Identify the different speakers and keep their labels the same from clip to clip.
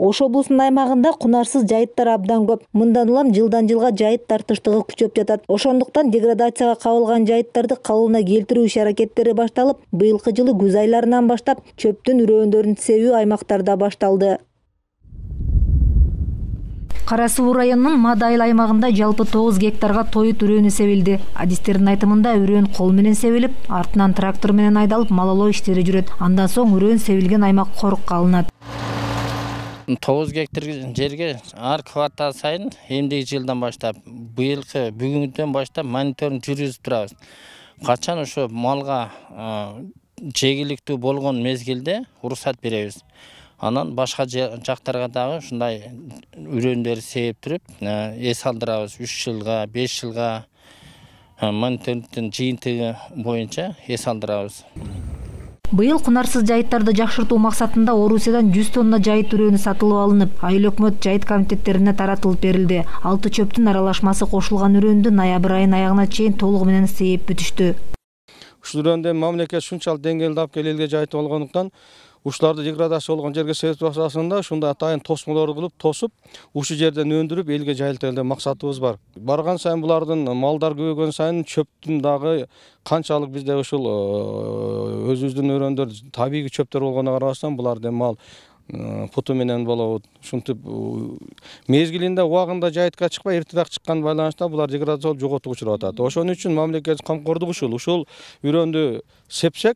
Speaker 1: Ош облусунун аймагында кунарсыз жайыттар абдан көп. Мындан улам жылдан жылга жайыт тартыштыгы күчөп жатат. Ошондуктан деградацияга кабылган жайыттарды калыбына келтирүү иш-аракеттери башталып, быйылкы жылы күз айларынан баштап чөптүн үрөөндөрүн себүү аймактарда башталды. Кара Суу районунун Мада айыл аймагында жалпы 9 гектарга тоют үрөөнү себилди. Адистердин айтымында үрөөн кол менен себилип, артынан трактор менен айдалып малолоо иштери жүрөт. Андан соң үрөөн себилген аймак корукка алынат.
Speaker 2: 9 гектар жерге ар квартал сайын эмдеги жылдан баштап, быйылкы бүгүндөн баштап мониторинг жүргүзүп турабыз. Качан ошо малга жегиликтүү болгон мезгилде уруксат беребиз. Анан башка жактарга дагы ушундай үрөөндөрдү себип туруп, эс алдырабыз. 3 жылга, 5 жылга мониторингдин жыйынтыгы боюнча эс алдырабыз.
Speaker 1: Быйыл кунарсыз жайыттарды жакшыртуу максатында Орусиядан 100 тонна жайыт үрөөнү сатылып алынып, айыл өкмөт жайыт комитеттерине таратылып берилди. 6 чөптүн аралашмасы кошулган үрөндү ноябрь айынын аягына чейин толугу менен сейип бүтүштү.
Speaker 3: Ушул үрөөндө мамлекет ушунчалык деңгээлде алып келип элге жайыт болгондуктан ушуларды деградация болгон жерге себип асасында ушундай атайын тосмолорду кылып тосуп, ушул жерден өндүрүп элге жайылталы деп максатыбыз бар. Барган сайын булардын малдар көбөйгөн сайын чөптүн дагы канчалык бизде ушул өзүбүздүн өрөндөр табигый чөптөр болгонуна карабастан буларды мал путу менен болобу. Ушинтип мезгилинде убагында жайытка чыкпай эртерээк чыккан байланышта булар деградация болуп жоготууга учурап атат. Ошон үчүн мамлекет камкордугу ушул үрөндү сепсек,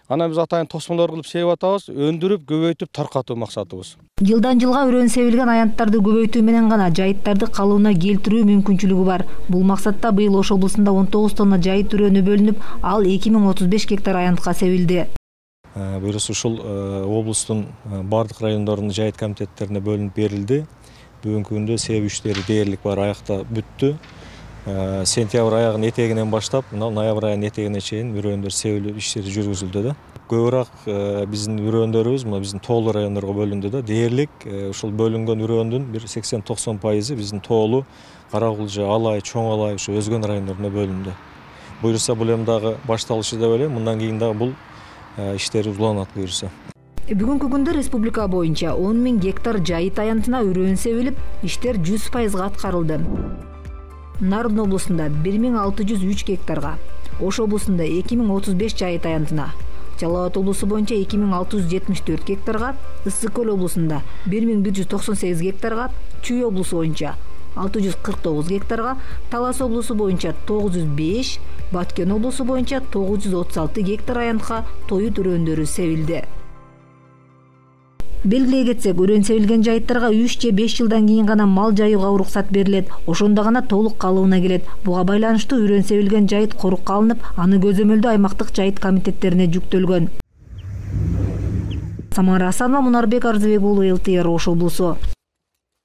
Speaker 3: анан биз атайын тосмолор кылып себип атабыз, өндүрүп, көбөйтүп таркатуу максатыбыз.
Speaker 1: Жылдан жылга үрөөн себилген аянттарды көбөйтүү менен гана жайыттарды калыбына келтирүү мүмкүнчүлүгү бар. Бул максатта быйыл Ош облусунда 19 тонна жайыт үрөөнү бөлүнүп, ал 2035 гектар аянтка себилди.
Speaker 4: Буюрса ушул облустун бардык райондорунун жайыт комитеттерине бөлүнүп берилди. Бүгүнкү күндө себүү иштери дээрлик бар, аякта бүттү. Сентябрь аягынын этегинен баштап, ноябрь айынын этегине чейин үрөөөндөр себилип иштери жүргүзүлдү да. Көбүрөөк биздин үрөөндөрүбүз биздин тоолуу райондорго бөлүндү да. Дээрлик ушул бөлүнгөн үрөөндүн 80-90% биздин тоолуу, Каракулжа, Алай, Чоң Алай ушу өзгөн райондоруна бөлүндү. Буюрса бул эми дагы башталышы деп ойлойм. Мындан кийин дагы бул иштерибиз уланат буюрса.
Speaker 1: Бүгүнкү күндө республика боюнча 10 000 гектар жайыт аянтына үрөөн себилип, иштер 100% аткарылды. Нарын облусунда 1603 гектарга, Ош облусунда 2035 жайыт аянтына, Жалал Абад облусу боюнча 2674 гектарга, Ысык Көл облусунда 1198 гектарга, Чүй облусу боюнча 649 гектарга, Талас облусу боюнча 905, Баткен облусу боюнча 936 гектар аянтка тоют үрөөндөрү себилди. Белгилей кетсек, үрөөн себилген жайыттарга 3 же 5 жылдан кийин гана мал жайууга уруксат берилет. Ошондо гана толук калыбына келет. Буга байланыштуу үрөөн себилген жайыт корукка алынып, аны көзөмөлдөө аймактык жайыт комитеттерине жүктөлгөн. Самара Асанова, Мунарбек Арзыбек уулу, ЛТР, Ош облусу.